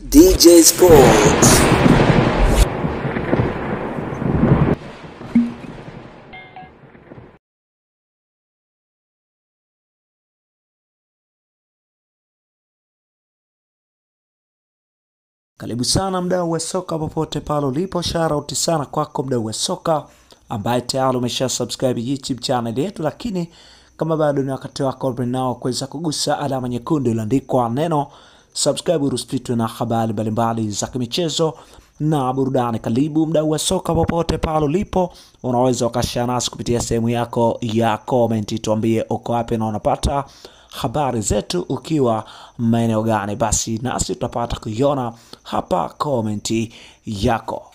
DJ Sports. Karibu sana mdau wa soka popote pale ulipo, shout sana kwako mdau wa soka ambaye tayari umesha subscribe YouTube channel yetu, lakini kama bado ni wakati wako nao kuweza kugusa alama nyekundu iliyoandikwa neno subscribe, ruspitwe na habari mbalimbali za kimichezo na burudani. Karibu mdau wa soka popote pale ulipo, unaweza ukashare nasi kupitia sehemu yako ya comment, tuambie uko wapi na unapata habari zetu ukiwa maeneo gani, basi nasi tutapata kuiona hapa komenti yako.